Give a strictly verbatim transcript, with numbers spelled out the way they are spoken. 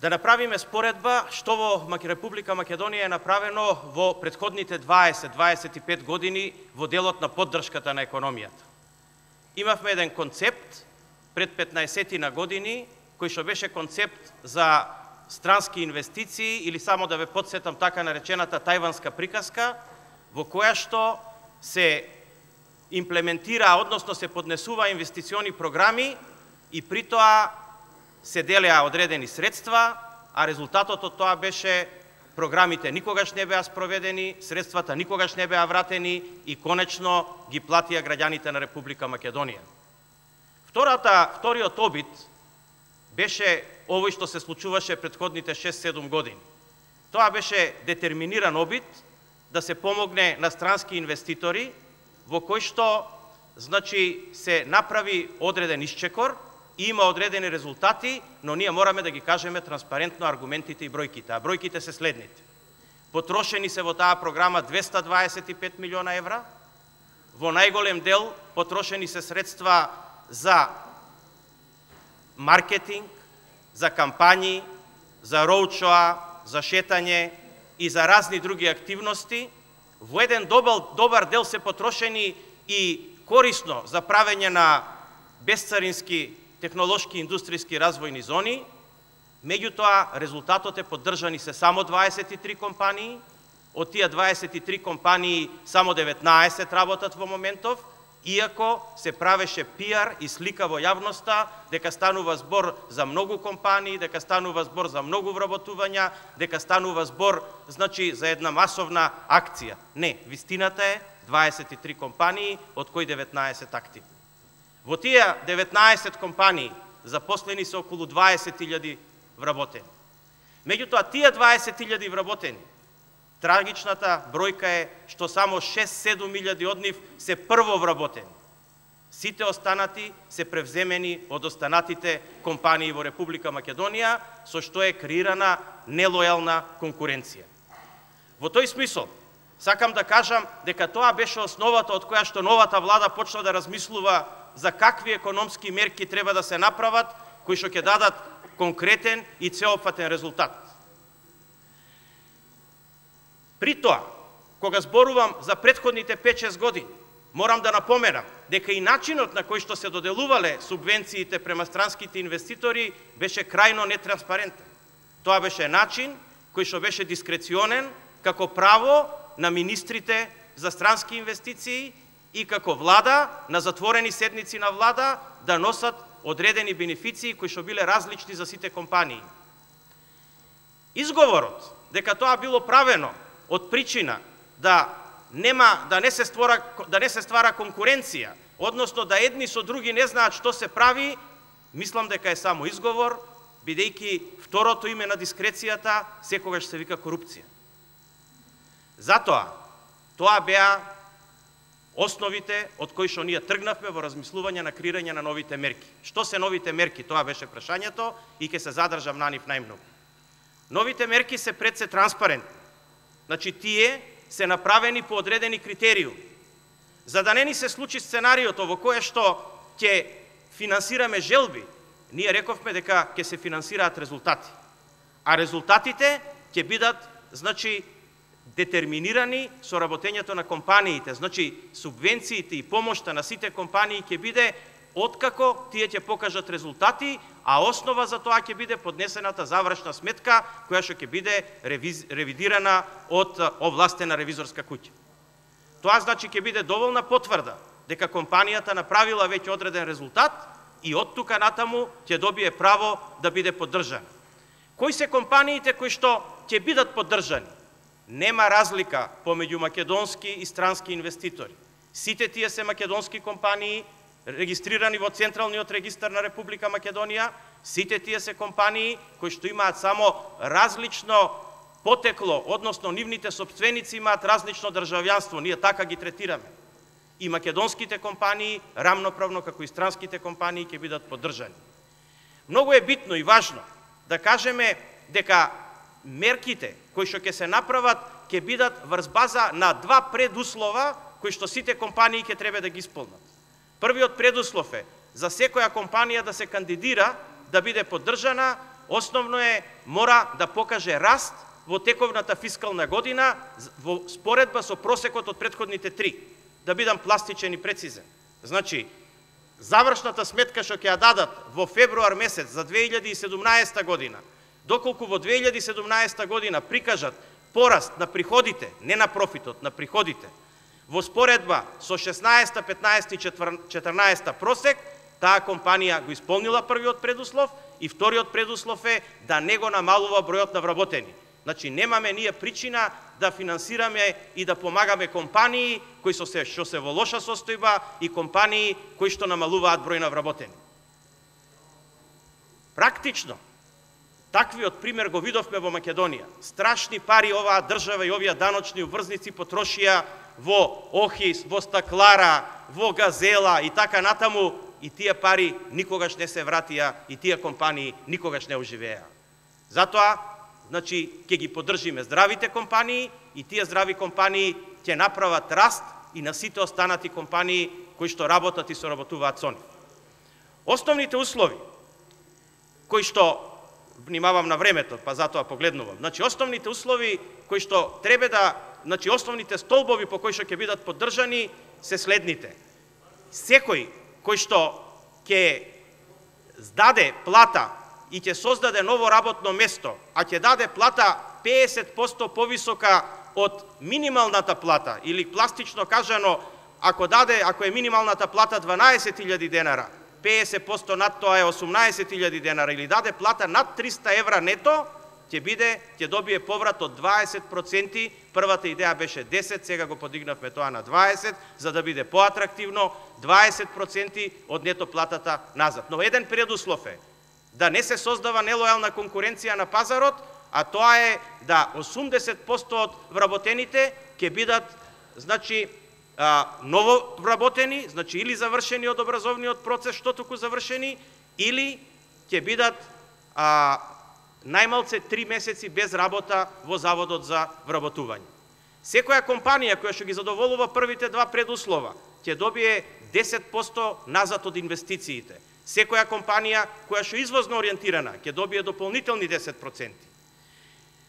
да направиме споредба што во Република Македонија е направено во претходните дваесет до дваесет и пет години во делот на поддршката на економијата. Имавме еден концепт пред петнаесет години, кој што беше концепт за странски инвестиции, или само да ве подсетам така наречената тајванска приказка, во која што се имплементира, односно се поднесува инвестициони програми и при тоа се делеа одредени средства, а резултатот од тоа беше програмите никогаш не беа спроведени, средствата никогаш не беа вратени и конечно ги платија граѓаните на Република Македонија. Втората, вториот обид беше овој што се случуваше претходните шест-седум години. Тоа беше детерминиран обид да се помогне на странски инвеститори, во кој што значи се направи одреден исчекор, има одредени резултати, но ние мораме да ги кажеме транспарентно аргументите и бројките. А бројките се следните. Потрошени се во таа програма двеста дваесет и пет милиона евра, во најголем дел потрошени се средства за маркетинг, за кампањи, за роудшоа, за шетање и за разни други активности. Во еден добар, добар дел се потрошени и корисно за правење на безцарински технолошки и индустријски развојни зони. Меѓутоа, резултатот е поддржани се само дваесет и три компании, од тие дваесет и три компании само деветнаесет работат во моментов, иако се правеше пиар и слика во јавноста дека станува збор за многу компании, дека станува збор за многу вработувања, дека станува збор значи за една масовна акција. Не, вистината е дваесет и три компании, од кои деветнаесет активни. Во тие деветнаесет компании запослени се околу дваесет илјади вработени. Меѓутоа, тие дваесет илјади вработени, трагичната бројка е што само шест-седум илјади од нив се прво вработени. Сите останати се превземени од останатите компании во Република Македонија, со што е креирана нелојална конкуренција. Во тој смисол, сакам да кажам дека тоа беше основата од која што новата влада почна да размислува за какви економски мерки треба да се направат, кои што ќе дадат конкретен и цеопфатен резултат. При тоа, кога зборувам за претходните пет-шест години, морам да напоменам дека и начинот на кој што се доделувале субвенциите према странските инвеститори беше крајно нетранспарентен. Тоа беше начин кој што беше дискреционен како право на министрите за странски инвестиции и како влада на затворени седници на влада да носат одредени бенефиции кои што биле различни за сите компании. Изговорот дека тоа било правено од причина да нема да не се створа да не се ствара конкуренција, односно да едни со други не знаат што се прави, мислам дека е само изговор, бидејќи второто име на дискрецијата секогаш се вика корупција. Затоа, тоа беа основите од кои што ние тргнавме во размислување на креирање на новите мерки. Што се новите мерки? Тоа беше прашањето и ќе се задржам на нив најмногу. Новите мерки се пред се транспарентни. Значи, тие се направени по одредени критериуми. За да не ни се случи сценариото во кое што ќе финансираме желби, ние рековме дека ќе се финансираат резултати. А резултатите ќе бидат, значи, детерминирани со работењето на компаниите. Значи, субвенциите и помошта на сите компании ќе биде откако тие ќе покажат резултати, а основа за тоа ќе биде поднесената завршна сметка, која што ќе биде ревиз, ревидирана од овластена ревизорска куќа. Тоа значи ќе биде доволна потврда дека компанијата направила веќе одреден резултат и од тука натаму ќе добие право да биде поддржана. Кои се компаниите кои што ќе бидат поддржани? Нема разлика помеѓу македонски и странски инвеститори. Сите тие се македонски компании, регистрирани во Централниот регистар на Република Македонија, сите тие се компании кои што имаат само различно потекло, односно нивните сопственици имаат различно државјанство, ние така ги третираме. И македонските компании, рамноправно како и странските компании, ќе бидат поддржани. Многу е битно и важно да кажеме дека мерките кои што ќе се направат ќе бидат врз база на два предуслова кои што сите компании ќе треба да ги исполнат. Првиот предуслов е за секоја компанија да се кандидира да биде поддржана, основно е мора да покаже раст во тековната фискална година во споредба со просекот од претходните три. Да бидам пластичен и прецизен. Значи, завршната сметка што ќе ја дадат во февруар месец за две илјади и седумнаесета година, доколку во две илјади и седумнаесета година прикажат пораст на приходите, не на профитот, на приходите, во споредба со шеснаесета, петнаесета и четрнаесета просек, таа компанија го исполнила првиот предуслов и вториот предуслов е да не го намалува бројот на вработени. Значи, немаме ние причина да финансираме и да помагаме компании кои со се што се во лоша состојба и компании кои што намалуваат број на вработени. Практично, таквиот пример го видовме во Македонија. Страшни пари оваа држава и овие даночни уврзници потрошија во Охис, во Стаклара, во Газела и така натаму, и тие пари никогаш не се вратија и тие компании никогаш не оживеа. Затоа, значи, ќе ги поддржиме здравите компании и тие здрави компании ќе направат раст и на сите останати компании кои што работат и соработуваат со нив. Основните услови кои што, внимавам на времето, па затоа погледнувам, значи основните услови кои што треба да, значи основните столбови по кои што ќе бидат поддржани се следните. Секој кој што ќе здаде плата и ќе создаде ново работно место, а ќе даде плата педесет проценти повисока од минималната плата, или пластично кажано, ако даде, ако е минималната плата дванаесет илјади денара, педесет проценти над тоа е осумнаесет илјади денара, или даде плата над триста евра нето, ќе биде, ќе добие поврат од дваесет проценти. Првата идеја беше десет, сега го подигнавме тоа на дваесет, за да биде поатрактивно, дваесет проценти од нето платата назад. Но еден предуслов е да не се создава нелојална конкуренција на пазарот, а тоа е да осумдесет проценти од вработените ќе бидат, значи, а, ново вработени, значи или завршени од образовниот процес, што туку завршени, или ќе бидат а, најмалце три месеци без работа во Заводот за вработување. Секоја компанија која што ги задоволува првите два предуслова ќе добие десет проценти назад од инвестициите. Секоја компанија која што е извозно ориентирана ќе добие дополнителни десет проценти.